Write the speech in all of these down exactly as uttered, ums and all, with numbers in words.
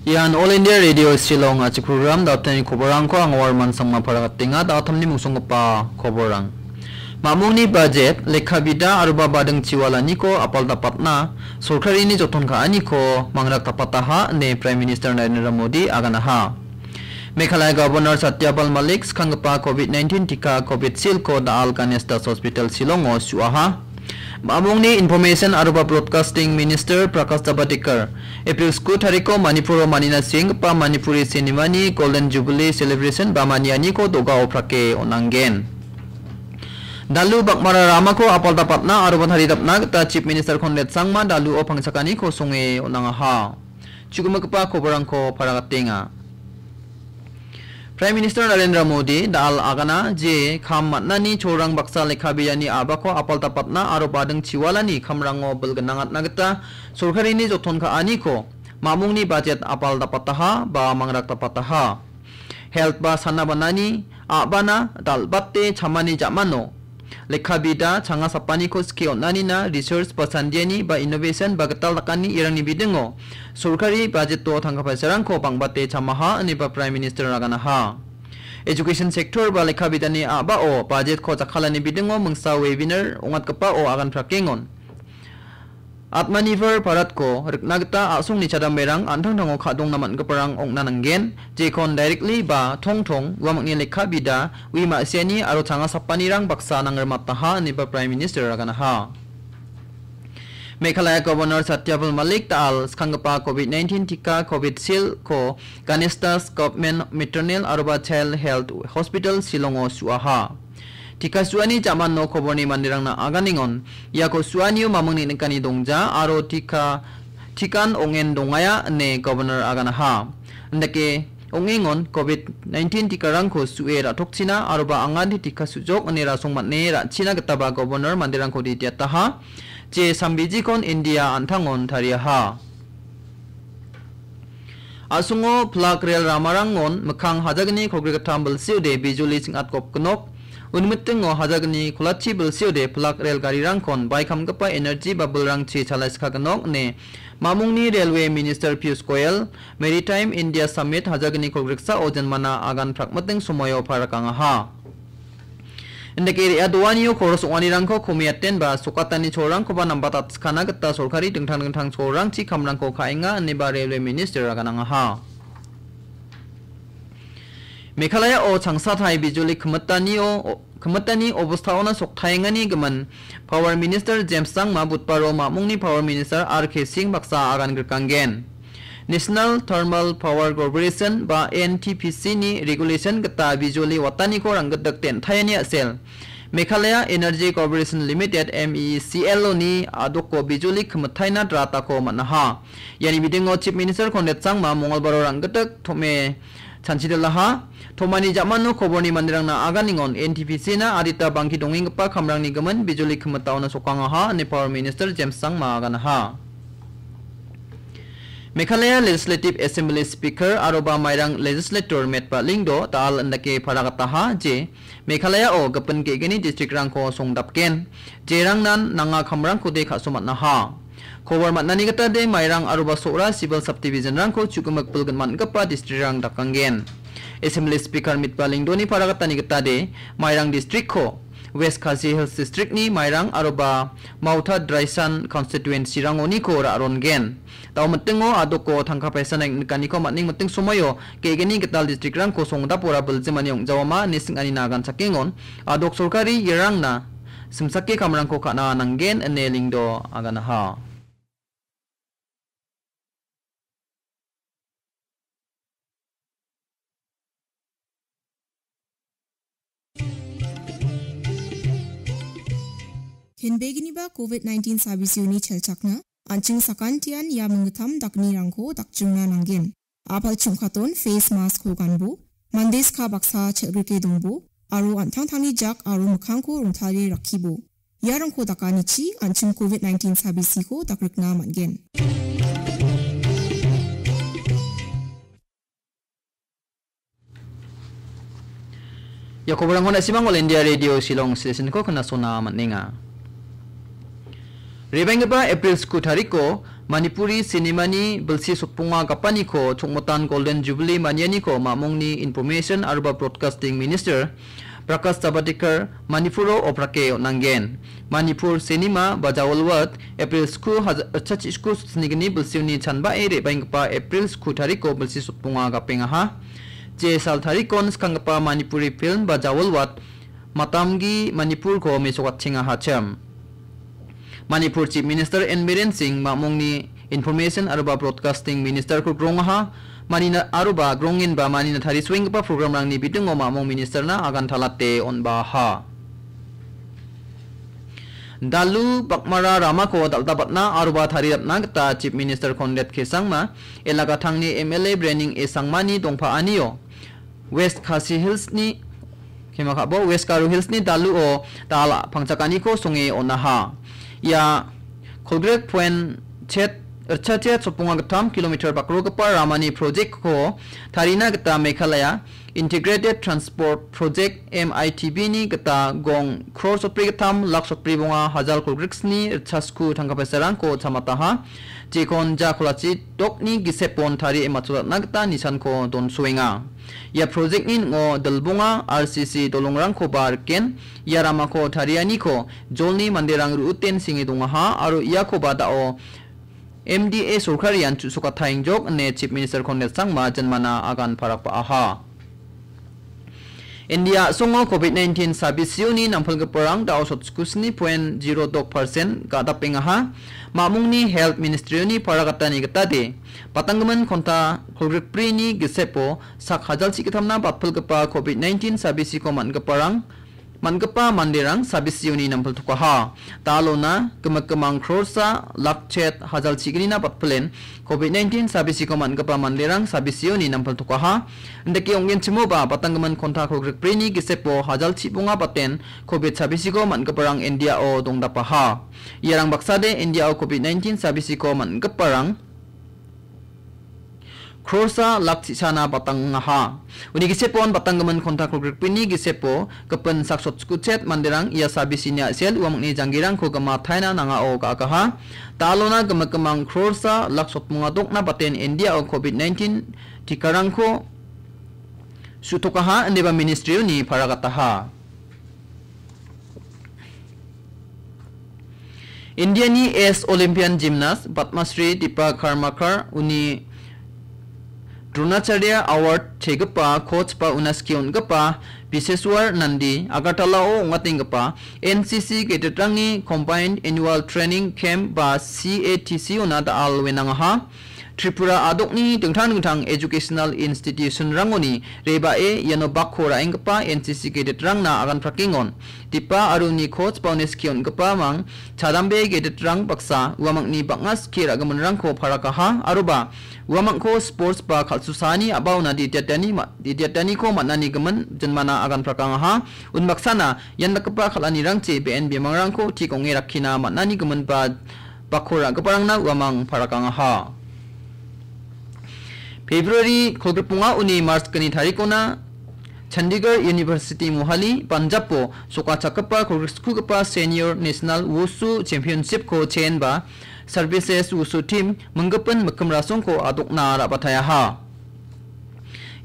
Ian All India Radio Shillong a·chik program, da·alni koborrangko anga Warman Sangma paragatenga. Da·alni mungsonggipa koborrang. Mamungni bajet, lekka bida aroba bading chiwalaniko apal dapatna sorkarini joton ka·aniko mangrak dapataha ine Prime Minister Narendra Modi aganaha. Meghalaya Governor Satyapal Malik skanggipa covid nineteen tika Covishield-ko da·al Ganesh Das Hospital Shillongo su·aha. Mamungni Information aroba Broadcasting Minister Prakash Javadekar, April sku tariko Manipuro manina sienggipa Manipuri Cinema-ni Golden Jubilee Celebration ba manianiko do·gao prake on·angen. Dalu bakmara ramako apal dapatna aroba taridapna gita Chief Minister Conrad Sangma daluo pangchakaniko songe on·angaha. Chugimikgipa koborrangko paragatenga. Prime Minister Narendra Modi da·al agana je kam man·ani cholrang baksa lekka bidani a·bako apal dapatna aro bading chiwalani kamrango bilgnangatna gita sorkarini joton ka·aniko mamungni bajet apal dapataha ba mangrak dapataha. Health ba sana banani a·bana dal·bate chamani jamano lekka bida changa sapaniko skie on·anina research ba sandiani ba innovation ba gital dakani irangni bidingo sorkari bajeto tangka paisarangko bangbate chamaha ineba Prime Minister aganaha. Education sector ba lekka bidani a·bao bajetko jakkalani bidingo mingsa webinar ong·atgipao agan prakengon. Atmanirbhar Bharatko rikna gita a·songni chadamberang an·tangtango ka·dongna man·giparang ong·na nanggen, jekon directly ba tongtong uamangni lekka bida, ui ma·siani aro changa sapanirang baksa nangrimataha ineba Prime Minister aganaha. Meghalaya Governor Satyapal Malik da·al skanggipa covid nineteen tika Covishield-ko Ganesh Das Government Maternal aroba Child Health Hospital Shillongo su·aha. Tika su·ani jamano koborni manderangna aganengon, iako su·anio mamingni nikani dongja aro tika, tikan ong·en dongaya ine Governor aganaha. Indake ong·engon covid nineteen tikarangko su·e ra·tokchina aroba angade tika su·jok ine rasong man·e ra·china gitaba Governor manderangko ditiataha, je sambijikon India an·tangon tariaha. A·songo pilak rel ramarangon mikkang hajagni kolgrikgittam bilsiode bijoli ching·atgopgnok, unmitingo hajagni kolachi bilsiode pilak rel garirangkon baikamgipa energy ba bilrangchi chalaiskagnok ine mamungni Railway Minister Piyush Goyal, Maritime India Summit hajagni kolgriksao jenmana agan prakmiting somoio parakangaha. Indake re·a doanio koros ong·anirangko komiaten ba sokatani cholrangkoba nambatatskana gita sorkari dingtang dingtang cholrangchi kamrangko ka·enga ineba Railway Minister aganangaha. Meghalayao changsatai bijoli kimitanio, kimitani obostaona soktaengani gimin Power Minister James Sangma budbaro mamungni Power Minister R K Singh baksa agan grikanggen. National Thermal Power Corporation ba N T P C ni regulation gita bijoli wataniko ranggitdikde den·taiani a·sel Meghalaya Energy Corporation Limited, M E E C L, oni a·doko bijoli kimitaina dratako man·aha. Iani bidingo Chief Minister Conrad Sangma Mongolbaro ranggitdik tom·e chanchidilaha. Tomani jamano koborni manderangna aganengon N T P C na adita bangki dongenggipa kamrangni gimin bijoli kimitaona sokangaha ine Power Minister James Sangma aganaha. Meghalaya Legislative Assembly Speaker aroba Mairang Legislator Metba Lyngdoh da·al indake paragataha je Meghalayao gipin ge·gni districtrangko songdapgen, jerangnan nanga kamrangkode ka·somatnaha. Kobor man·ani gitade Mairang aroba Sohra Civil Subdivisionrangko chu·gimik bilgin man·gipa districtrang dakanggen. Assembly Speaker Metba Lyngdohni paragatani gitade Mairang districtko West Khasi Hills Districtni Mairang aroba Mauta Draisan constituencyrangoniko ra·rongen. Dao mitingo a·doko tangka paisana nikaniko man·ning miting somoio ge·gni gital districtrangko songdapora biljimani ong·jaoma ine sing·anina aganchakengon. A·dok sorkari iarangna simsake kamrangko ka·na nanggen ine Lyngdoh aganaha. Kenbeginiba covid nineteen sabisioni chelchakna, an·ching sakantian ia minggittam daknirangko dakchingna nanggen. A·pal chingkaton face mask-ko ganbo, mande ska baksa chel·grike dongbo, aro an·tangtangni jak aro mikkangko rongtale rakkibo. Iarangko dakanichi an·ching covid nineteen sabisiko dakrikna man·gen. Ia koborangko na·simang All India Radio Shillong Station-ko knasona man·enga. Rebenggipa April sku tariko Manipuri cinemani bilsi sotponga gapaniko chongmotan Golden Jubilee manianiko mamongni Information aroba Broadcasting Minister Prakash Javadekar Manipuro oprake on·angen. Manipur cinema ba Jawalwat April sku haj-, ritchasku sotsinigni bilsioni chanbae re·baenggipa April sku tariko bilsi sotponga gapengaha. Je sal tarikon skanggipa Manipuri film ba Jawalwat Matamgi Manipurko mesokatchengahachim. Manipur Chief Minister N Biren Singh mamongni Information aroba Broadcasting Ministerko grongaha, manina aroba grongenba manina tarisoenggipa programrangni bidingo mamong ministerna agantalate on·baha. Dalu Bakmara ramako dal·dapatna aroba tariatna gita Chief Minister Conrad K Sangma, Elagatangni M L A Brening A Sangmani dongpaanio West Khasi Hillsni, kema ka·bo, West Garo Hillsni daluo dal pangchakaniko songe on·aha. Ia kolgrik point chet, ritchachet sotponga gittam kilometer bakrogipa ramani project-ko tarina gita Meghalaya Integrated Transport Project, M I T B ni gita gong crore sotbri gittam lak sotbri bonga hajal kolgriksni ritchasku tangka paisarangko chamataha. Jekon ja kolachi dokni gisepon tarie matchodatna gita nisanko donsoenga. Ia project-ni ning·o dilbonga R C C dolongrangkoba riken, ia ramako tarianiko jolni manderang ru·uten senge dongaha aro iakoba da·o M D A sorkarian chu·sokataengjok ine Chief Minister Conrad Sangma jinmana agan parakba·aha. India a·songo covid nineteen sabisioni nampilgiparang da·o sotchkusni point zero dok percent ga·dapengaha. Mamungni Health Ministry-oni paragatani gitade, patanggimin konta kolgrikbrini gisepo sak hajalchi gittamna batpilgipa covid nineteen sabisiko man·giparang, man·gipa manderang sabisioni nampiltokaha. Dalona gimik gimang croresa lak chet hajalchignina batpilen covid nineteen sabisiko man·gipa manderang sabisioni nampiltokaha. Indake ong·genchimoba, patanggimin konta kolgrikbrini gisepo hajalchi bonga baten covid sabisiko man·giparang India-o dongdapaha. Iarang baksade India-o covid nineteen sabisiko man·giparang croresa lak chisana batangaha. Uni gisepon batanggimin konta kolgrikbrini gisepo gipin sak sotchkuchet manderang ia sabisini a·sel uamangni janggirangko gimataina nangao ga·agaha. Dalona gimik gimang croresa lak sotmonga dokna baten India-o covid nineteen tikarangko su·tokaha, indiba ministry-oni paragataha. Indiani ex Olympian gymnast Padma Shri Deepa Karmakar uni Dronacharya Award chegipa coach ba una skie on·gipa Biseswar Nandi Agartala-o ong·atenggipa N C C cadet-rangni Combined Annual Training Camp ba C A T C-ona da·al wenangaha. Tripura a·dokni dingtang dingtang educational institution-rangoni rebae iano bakko ra·enggipa N C C cadet-rangna aganprakengon. Deepa aro uni coach ba uni skie on·gipamang chadambe cadet-rang baksa uamangni bang·a skie ra·giminrangko parakaha aroba uamangko sports ba kal·susaani a·baona didiatani ma-, didiataniko man·ani gimin jinmana aganprakangaha. Unbaksana ian dakgipa kal·anirangchi be·en bimangrangko tik ong·e rakkina man·ani gimin ba bakko ra·giparangna uamang parakangaha. February kolgrikbonga uni March gni tarikona Chandigarh University Mohali, Punjab-o sokachakgipa kolgrikskugipa Senior National Wushu Championship-ko chenba Services Wushu Team minggipin mikkim rasongko a·dokna ra·bataeaha.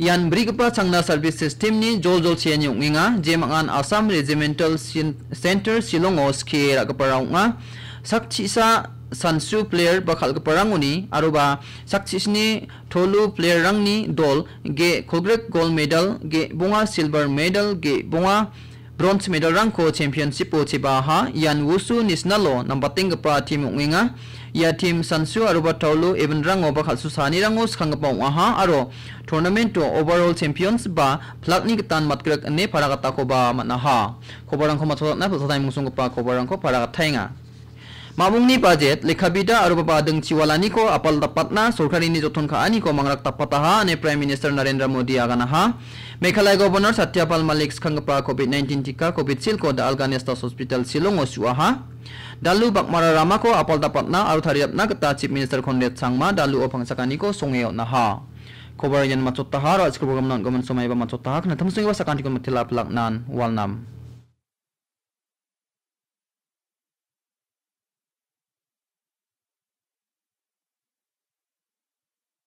Ian brigipa changna service system-ni joljol cheani ong·enga, jemangan Assam Regimental Cen-, Center Shillong-o skie ra·gipara ong·a. Sak chisa Sansu player ba kal·giparangoni aroba sak chisni tolu player-rangni dol ge kolgrik gold medal, ge bonga silver medal, ge bonga bronze medal-rangko championship-o chebaha. Ian Wushu National-o nambatenggipa team ong·enga. Ia team Sansu aroba Taulu event-rango ba kal·susaanirango skanggipa ong·aha aro tournament-o overall champions ba plak-ni gitan matgrik ine paragatakoba man·aha. Kobarangko matchotatna pilsatai mungsonggipa kobarangko paragataenga. Mamungni bajet, lekabida aro ba bading chiwalaniko apal dapatna sorkarini joton ka·aniko mangrak dapataha ine Prime Minister Narendra Modi aganaha. Meghalaya Governor Satya Pal Malik skanggipa covid nineteen tika Covishield-ko da·al Ganesha Hospital Shillong-o su·aha. Dalu Bakmara ramako apal dapatna aro tariatna gita Chief Minister Conrad Sangma daluo pangchakaniko songe on·aha. Kobar ian matchotaha, aro a·chikrobo gamna on·gimin somaiba matchotaha, knatim songipa sakantiko mitela pilaknan walnam.